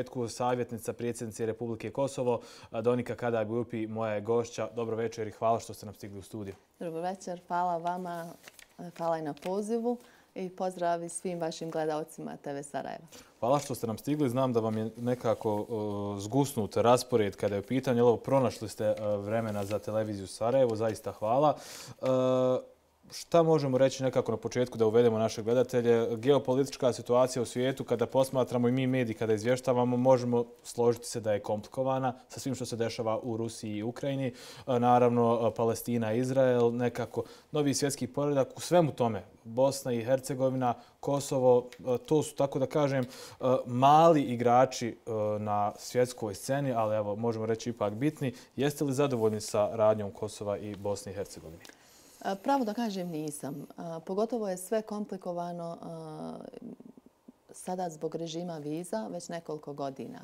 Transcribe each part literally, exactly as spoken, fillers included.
početku savjetnica predsjednice Republike Kosovo, Donika Kadaj-Bujupi, moja je gošća. Dobro večer i hvala što ste nam stigli u studiju. Dobro večer, hvala vama, hvala i na pozivu i pozdrav svim vašim gledalcima te ve Sarajevo. Hvala što ste nam stigli. Znam da vam je nekako uh, zgusnut raspored kada je u pitanju. Evo, pronašli ste uh, vremena za televiziju Sarajevo, zaista hvala. Uh, Šta možemo reći nekako na početku da uvedemo naše gledatelje? Geopolitička situacija u svijetu, kada posmatramo i mi mediji, kada izvještavamo, možemo složiti se da je komplikovana sa svim što se dešava u Rusiji i Ukrajini. Naravno, Palestina, Izrael, nekako novi svjetski poredak. U svemu tome, Bosna i Hercegovina, Kosovo, to su, tako da kažem, mali igrači na svjetskoj sceni, ali evo, možemo reći ipak bitni. Jeste li zadovoljni sa radnjom Kosova i Bosne i Hercegovine? Pravo da kažem nisam. Pogotovo je sve komplikovano sada zbog režima viza već nekoliko godina.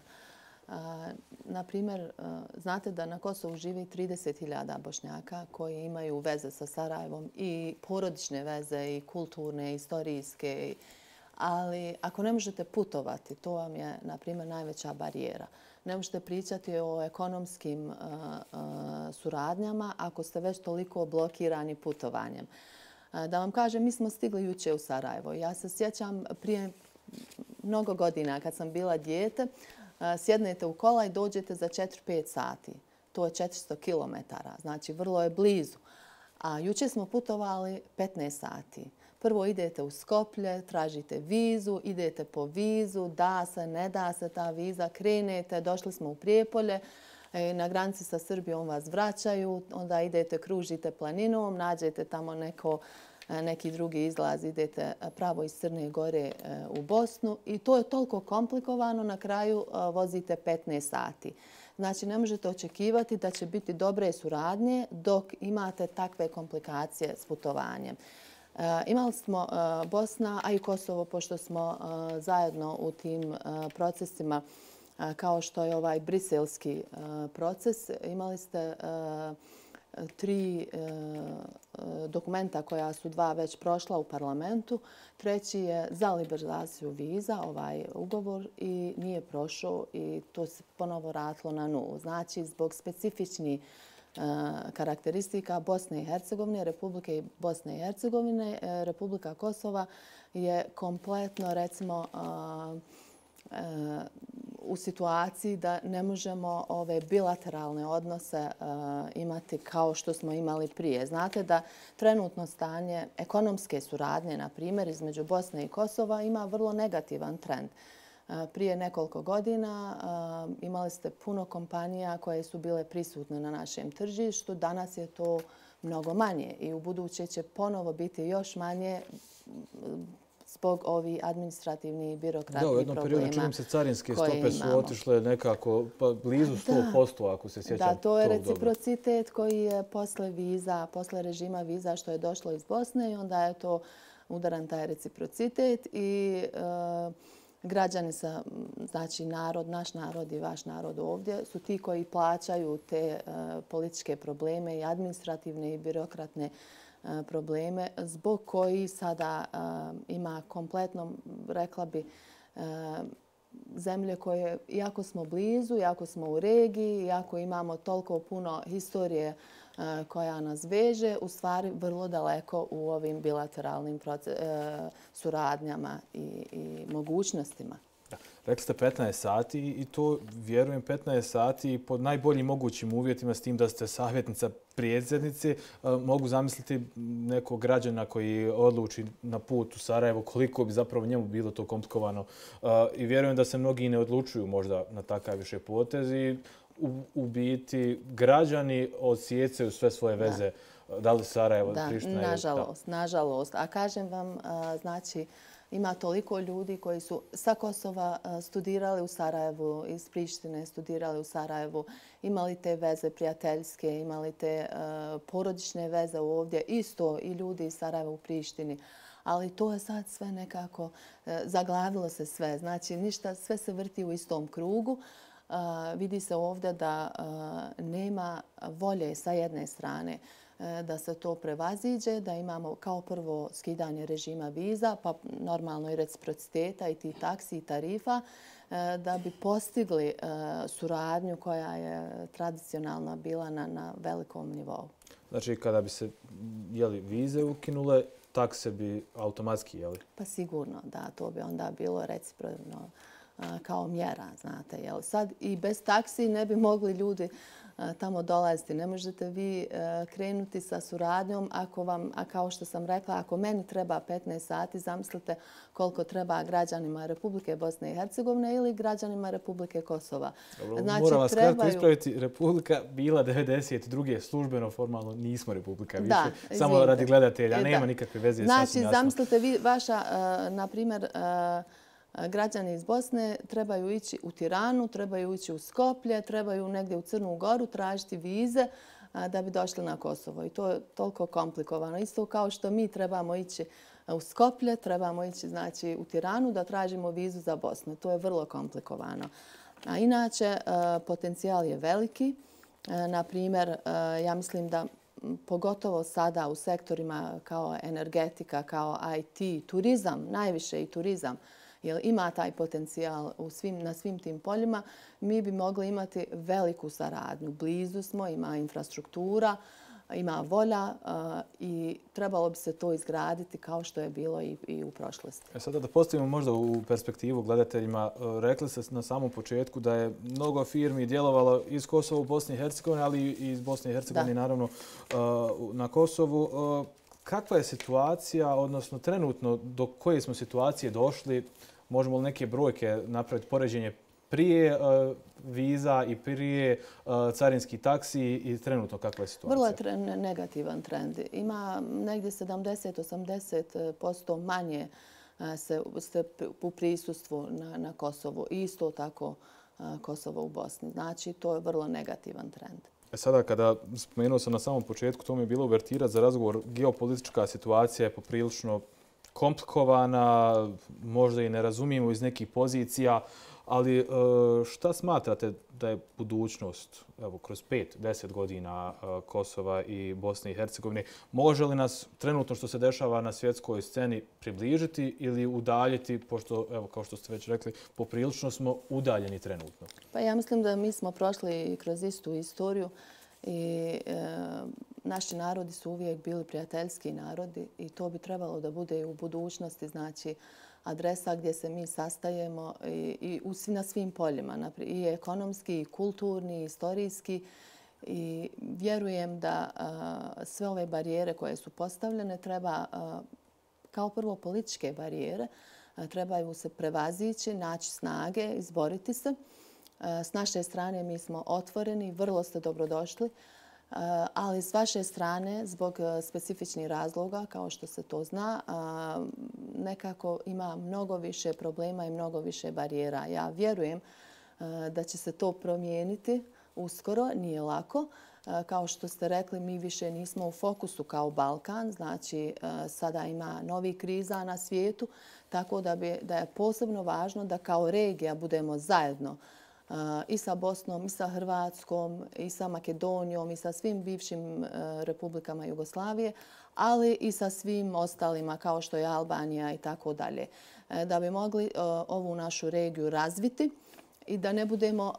Na primjer, znate da na Kosovu živi trideset hiljada Bošnjaka koji imaju veze sa Sarajevom i porodične veze i kulturne, istorijske. Ali ako ne možete putovati, to vam je, na primjer, najveća barijera. Ne možete pričati o ekonomskim uh, uh, suradnjama ako ste već toliko blokirani putovanjem. Uh, da vam kažem, mi smo stigli juče u Sarajevo. Ja se sjećam prije mnogo godina kad sam bila dijete, uh, sjednete u kola i dođete za četiri pet sati. To je četiristo kilometara, znači vrlo je blizu. A juče smo putovali petnaest sati. Prvo idete u Skoplje, tražite vizu, idete po vizu, da se, ne da se ta viza, krenete, došli smo u Prijepolje, na granici sa Srbijom vas vraćaju, onda idete, kružite planinom, nađete tamo neko, neki drugi izlaz, idete pravo iz Crne Gore u Bosnu i to je toliko komplikovano, na kraju vozite petnaest sati. Znači, ne možete očekivati da će biti dobre suradnje dok imate takve komplikacije s putovanjem. Uh, imali smo uh, Bosna, a i Kosovo, pošto smo uh, zajedno u tim uh, procesima, uh, kao što je ovaj briselski uh, proces, imali ste uh, tri uh, dokumenta koja su dva već prošla u parlamentu. Treći je za liberalizaciju viza, ovaj ugovor, i nije prošao i to se ponovo vratilo na nulu. Znači, zbog specifičnih karakteristika Bosne i Hercegovine, Republike Bosne i Hercegovine, Republika Kosova je kompletno, recimo, u situaciji da ne možemo ove bilateralne odnose imati kao što smo imali prije. Znate da trenutno stanje ekonomske suradnje, na primjer, između Bosne i Kosova ima vrlo negativan trend. Prije nekoliko godina imali ste puno kompanija koje su bile prisutne na našem tržištu. Danas je to mnogo manje i u buduće će ponovo biti još manje zbog ovih administrativnih i birokratnih problema. Da, u jednom periodu čini se carinske stope su otišle nekako blizu sto posto, ako se sjećam. Da, to je reciprocitet koji je posle viza, posle režima viza što je došlo iz Bosne i onda je to udaran taj reciprocitet i građani sa, znači narod, naš narod i vaš narod ovdje su ti koji plaćaju te uh, političke probleme i administrativne i birokratne uh, probleme zbog koji sada uh, ima kompletno, rekla bi, uh, zemlje koje, iako smo blizu, iako smo u regiji, iako imamo toliko puno historije uh, koja nas veže, u stvari vrlo daleko u ovim bilateralnim proces, uh, suradnjama i, i mogućnostima. Da. Rekli ste petnaest sati i to, vjerujem, petnaest sati pod najboljim mogućim uvjetima s tim da ste savjetnica predsjednice. Mogu zamisliti nekog građana koji odluči na put u Sarajevo koliko bi zapravo njemu bilo to komplikovano. I vjerujem da se mnogi ne odlučuju možda na takav više potez i u, u biti građani odsjecaju sve svoje veze. Da, da li Sarajevo, da, Priština? Nažalost, da. nažalost. A kažem vam, znači, ima toliko ljudi koji su sa Kosova studirali u Sarajevu, iz Prištine studirali u Sarajevu, imali te veze prijateljske, imali te uh, porodične veze ovdje, isto i ljudi iz Sarajeva u Prištini. Ali to je sad sve nekako, uh, zaglavilo se sve. Znači, ništa, sve se vrti u istom krugu. Uh, vidi se ovdje da uh, nema volje sa jedne strane da se to prevaziđe, da imamo kao prvo skidanje režima viza, pa normalno i reciprociteta i ti taksi i tarifa, da bi postigli suradnju koja je tradicionalno bila na, na velikom nivou. Znači, kada bi se jeli, vize ukinule, takse bi automatski, jeli? Pa sigurno, da. To bi onda bilo recipročno kao mjera, znate. Jel? Sad i bez taksi ne bi mogli ljudi tamo dolaziti. Ne možete vi krenuti sa suradnjom ako vam, a kao što sam rekla, ako meni treba petnaest sati, zamislite koliko treba građanima Republike Bosne i Hercegovine ili građanima Republike Kosova. Dobro, znači, moram vas trebaju... kratko ispraviti. Republika bila devedeset druge službeno, formalno nismo Republika više. Da, samo radi gledatelja, nema da. nikakve veze. Znači, zamislite vi, vaša, na primjer, građani iz Bosne trebaju ići u Tiranu, trebaju ići u Skoplje, trebaju negdje u Crnu Goru tražiti vize da bi došli na Kosovo. I to je toliko komplikovano. Isto kao što mi trebamo ići u Skoplje, trebamo ići znači, u Tiranu da tražimo vizu za Bosnu. To je vrlo komplikovano. A inače, potencijal je veliki. Na primjer, ja mislim da pogotovo sada u sektorima kao energetika, kao I T, turizam, najviše i turizam, jer ima taj potencijal u svim, na svim tim poljima, mi bi mogli imati veliku saradnju. Blizu smo, ima infrastruktura, ima volja uh, i trebalo bi se to izgraditi kao što je bilo i, i u prošlosti. E sada da postavimo možda u perspektivu gledateljima, rekli ste na samom početku da je mnogo firmi djelovalo iz Kosova u Bosni i Hercegovini, ali i iz Bosne i Hercegovine naravno uh, na Kosovu. Uh, kakva je situacija, odnosno trenutno do koje smo situacije došli? Možemo li neke brojke napraviti poređenje prije uh, viza i prije uh, carinski taksi i trenutno kakva je situacija? Vrlo je tre- negativan trend. Ima negdje sedamdeset do osamdeset posto manje uh, se, se u prisustvu na, na Kosovu. I isto tako uh, Kosovo u Bosni. Znači, to je vrlo negativan trend. E sada, kada spomenuo sam na samom početku, to mi je bilo uvertira za razgovor, geopolitička situacija je poprilično komplikovana, možda i ne razumijemo iz nekih pozicija, ali šta smatrate da je budućnost evo, kroz pet, deset godina Kosova i Bosne i Hercegovine? Može li nas trenutno što se dešava na svjetskoj sceni približiti ili udaljiti, pošto, evo, kao što ste već rekli, poprilično smo udaljeni trenutno? Pa ja mislim da mi smo prošli kroz istu istoriju i e, naši narodi su uvijek bili prijateljski narodi i to bi trebalo da bude i u budućnosti, znači adresa gdje se mi sastajemo i, i u, na svim poljima, i ekonomski, i kulturni, i istorijski. I vjerujem da a, sve ove barijere koje su postavljene treba, a, kao prvo političke barijere, a, trebaju se prevazići, naći snage, izboriti se. S naše strane mi smo otvoreni, vrlo ste dobrodošli, ali s vaše strane, zbog specifičnih razloga, kao što se to zna, nekako ima mnogo više problema i mnogo više barijera. Ja vjerujem da će se to promijeniti uskoro, nije lako. Kao što ste rekli, mi više nismo u fokusu kao Balkan, znači sada ima novi kriza na svijetu, tako da, bi, da je posebno važno da kao regija budemo zajedno i sa Bosnom, i sa Hrvatskom, i sa Makedonijom, i sa svim bivšim republikama Jugoslavije, ali i sa svim ostalima kao što je Albanija i tako dalje. Da bi mogli ovu našu regiju razviti i da ne budemo,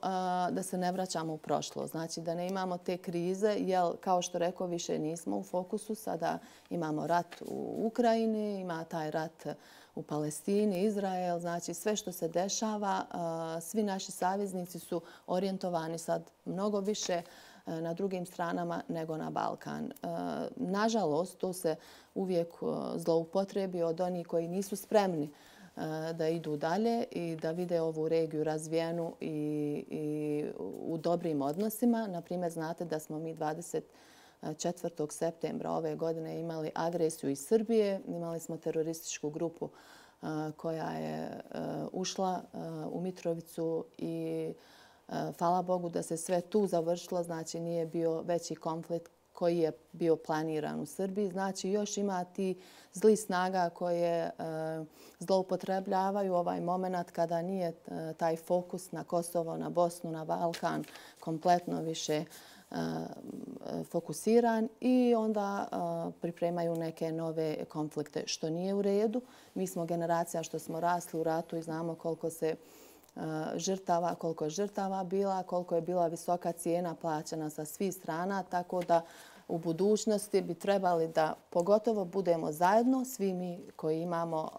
da se ne vraćamo u prošlost. Znači da ne imamo te krize, jer kao što rekao, više nismo u fokusu. Sada imamo rat u Ukrajini, ima taj rat u Palestini, Izrael, znači sve što se dešava, svi naši saveznici su orijentovani sad mnogo više na drugim stranama nego na Balkan. Nažalost, to se uvijek zloupotrebi od onih koji nisu spremni da idu dalje i da vide ovu regiju razvijenu i, i u dobrim odnosima. Naprimjer, znate da smo mi dvadeset četvrtog septembra ove godine imali agresiju iz Srbije. Imali smo terorističku grupu koja je ušla u Mitrovicu i hvala Bogu da se sve tu završilo. Znači nije bio veći konflikt koji je bio planiran u Srbiji. Znači još ima ti zli snaga koje zloupotrebljavaju ovaj moment kada nije taj fokus na Kosovo, na Bosnu, na Balkan kompletno više fokusiran i onda pripremaju neke nove konflikte, što nije u redu. Mi smo generacija što smo rasli u ratu i znamo koliko se žrtava, koliko je žrtava bila, koliko je bila visoka cijena plaćana sa svih strana, tako da u budućnosti bi trebali da pogotovo budemo zajedno, svi mi koji imamo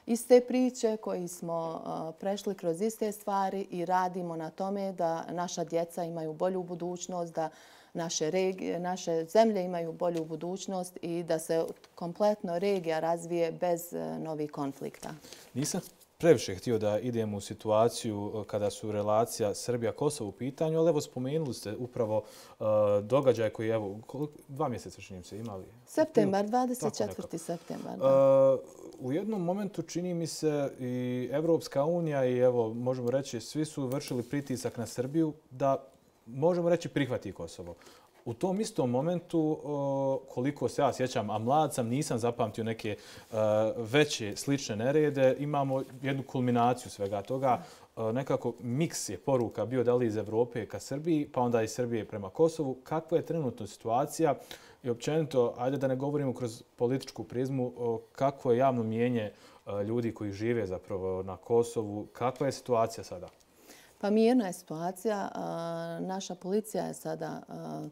iste priče, koji smo prešli kroz iste stvari i radimo na tome da naša djeca imaju bolju budućnost, da naše, regije, naše zemlje imaju bolju budućnost i da se kompletno regija razvije bez novih konflikta. Nisam previše htio da idemo u situaciju kada su relacija Srbija-Kosovo u pitanju, ali evo spomenuli ste upravo uh, događaj koji je evo, dva mjeseca čini se imali. Septembar, dvadeset četvrti septembar. Uh, u jednom momentu čini mi se i Evropska unija i evo možemo reći svi su vršili pritisak na Srbiju da možemo reći prihvati Kosovo. U tom istom momentu, koliko se ja sjećam, a mlad sam, nisam zapamtio neke veće slične nerede, imamo jednu kulminaciju svega toga. Nekako miks je poruka bio da li iz Evrope ka Srbiji, pa onda iz Srbije prema Kosovu. Kakva je trenutna situacija i općenito, ajde da ne govorimo kroz političku prizmu, kakvo je javno mijenje ljudi koji žive zapravo na Kosovu, kakva je situacija sada? Pa mirna je situacija. Naša policija je sada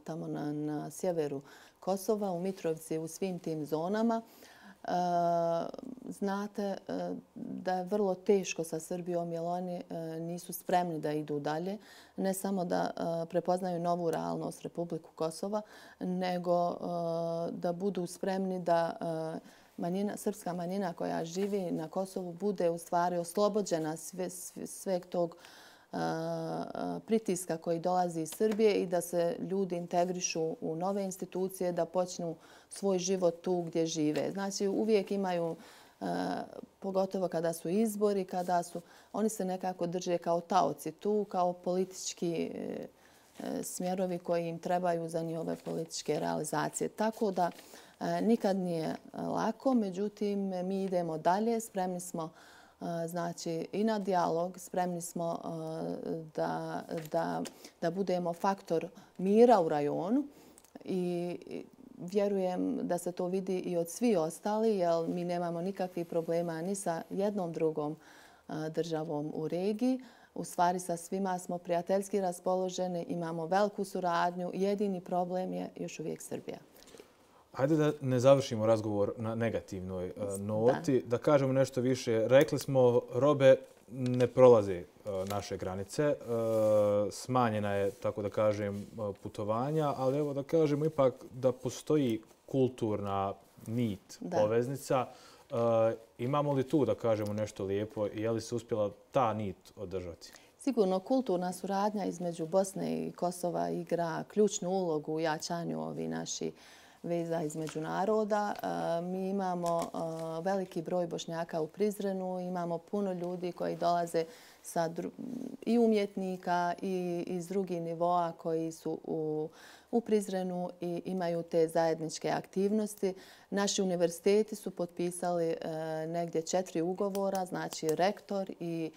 tamo na, na sjeveru Kosova, u Mitrovci, u svim tim zonama. Znate da je vrlo teško sa Srbijom jer oni nisu spremni da idu dalje. Ne samo da prepoznaju novu realnost Republiku Kosova, nego da budu spremni da manjina, srpska manjina koja živi na Kosovu bude u stvari oslobođena sve, sve, sveg tog pritiska koji dolazi iz Srbije i da se ljudi integrišu u nove institucije, da počnu svoj život tu gdje žive. Znači uvijek imaju, pogotovo kada su izbori, kada su, oni se nekako drže kao taoci tu, kao politički smjerovi koji im trebaju za njihove političke realizacije. Tako da nikad nije lako, međutim mi idemo dalje, spremni smo znači i na dijalog, spremni smo da, da, da budemo faktor mira u rajonu i vjerujem da se to vidi i od svih ostali, jer mi nemamo nikakvih problema ni sa jednom drugom državom u regiji. U stvari sa svima smo prijateljski raspoloženi, imamo veliku suradnju. Jedini problem je još uvijek Srbija. Hajde da ne završimo razgovor na negativnoj noti, da. da kažemo nešto više. Rekli smo, robe ne prolaze naše granice, smanjena je, tako da kažem, putovanja, ali evo da kažemo ipak da postoji kulturna nit, da. poveznica. Imamo li tu, da kažemo, nešto lijepo i je li se uspjela ta nit održati? Sigurno kulturna suradnja između Bosne i Kosova igra ključnu ulogu u jačanju ovi naši veza između naroda. Mi imamo veliki broj Bošnjaka u Prizrenu, imamo puno ljudi koji dolaze sa i umjetnika i iz drugih nivoa koji su u, u Prizrenu i imaju te zajedničke aktivnosti. Naši univerziteti su potpisali negdje četiri ugovora, znači rektor i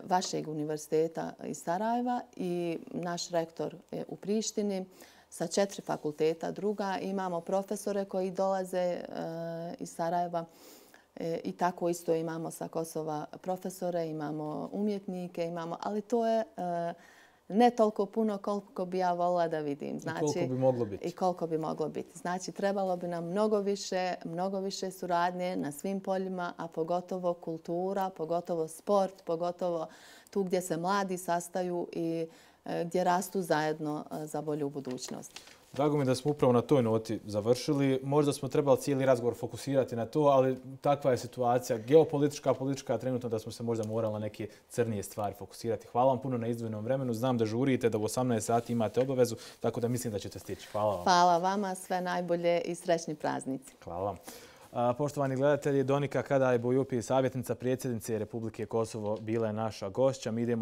vašeg univerziteta iz Sarajeva i naš rektor je u Prištini sa četiri fakulteta druga. Imamo profesore koji dolaze iz Sarajeva i tako isto imamo sa Kosova profesore, imamo umjetnike, imamo, ali to je ne toliko puno koliko bi ja volila da vidim. Znači, I koliko bi moglo biti. I koliko bi moglo biti. Znači, trebalo bi nam mnogo više, mnogo više suradnje na svim poljima, a pogotovo kultura, pogotovo sport, pogotovo tu gdje se mladi sastaju i gdje rastu zajedno za bolju budućnost. Drago mi da smo upravo na toj noti završili. Možda smo trebali cijeli razgovor fokusirati na to, ali takva je situacija geopolitička, politička, trenutno da smo se možda morali na neke crnije stvari fokusirati. Hvala vam puno na izdvojenom vremenu. Znam da žurite, da u osamnaest sati imate obavezu, tako da mislim da ćete stići. Hvala vam. Hvala vama, sve najbolje i srećni praznici. Hvala vam. Poštovani gledatelji, Donika Kadaj Bojupi, savjetnica predsjednice Republike Kosovo, bila je naša gošća. Mi idemo